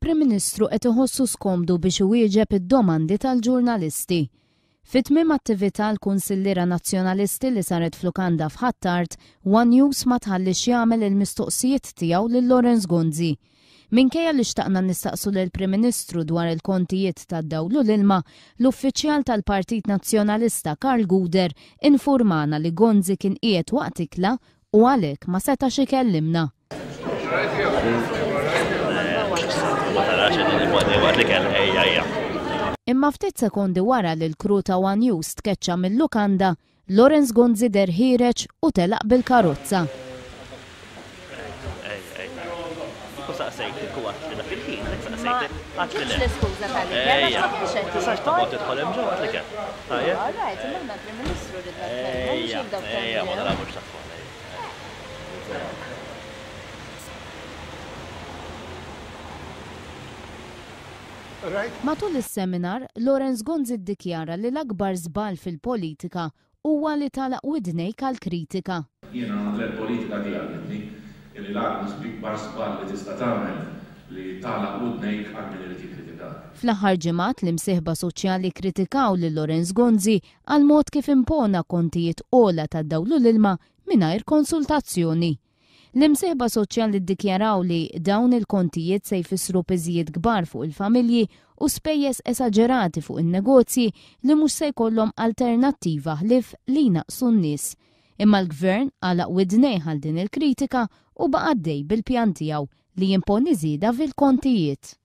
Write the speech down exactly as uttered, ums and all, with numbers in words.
Il-Prim Ministru qed iħossu skomdu biex iwieġeb id-domandi tal-ġurnalisti. Fi tmiem attività l-Kunsilliera Nazzjonalisti li saret f'lukanda f'Ħ'Attard, One News ma tħallix jagħmel il-mistoqsijiet tiegħu lil Lawrence Gonzi. Minkejja li xtaqna nistaqsu lill-Prim Ministru dwar il-kontijiet tad-dawl u l-ilma, l-uffiċjal tal-Partit Nazzjonalista Karl Gouder infurmana li Gonzi kien qiegħed waqt ikla u għalhekk ma setax ikellimna. Ma tarax li waqt li kell ejja ejja. Imma ftit sekondi wara li l-crew ta' One News tkeċċa mill-lukanda, Lawrence Gonzi deher ħiereġ u telaq bil-karozza. Ej, ej. U saqsejtek u għedt li dak il-ħin, saqsejtek, għedt li le. L-iskuża tal-ikel, Ejja. ma kienx qed Tistax toqgħod tidħol hemm ġewwa għedt li kemm. Tajjeb? All right, imma aħna l-Prim Ministru ridna nitkellmu, mhux Ejja, lil dawk ejja, ma tal-video. nilagħbux tat-tfal. Matul is-seminar, Lawrence Gonzi ddikjara li l-akbar żball fil-politika huwa li tagħlaq widnejk għall-kritika. Jiena l-politika tiegħi li l-akbar żball li tista' tagħmel li tagħlaq widnejk għal min irid jikkritikak. Fl-aħħar ġimgħat l-imsieħba soċjali kkritikaw lil Lawrence Gonzi għal mod kif impona kontijiet ogħla tad-dawl u l-ilma mingħajr konsultazzjoni. L-imsieħba soċjali ddikjaraw li dawn il-kontijiet se jfissru piżijiet kbar fuq il-familji u spejjeż esaġerati fuq in-negozji li mhux se jkollhom alternattiva ħlief li jnaqsu n-nies. Imma l-gvern għalaq widnejh għal din il-kritika u baqa' għaddej bil-pjan tiegħu li jimponi żieda fil-kontijiet.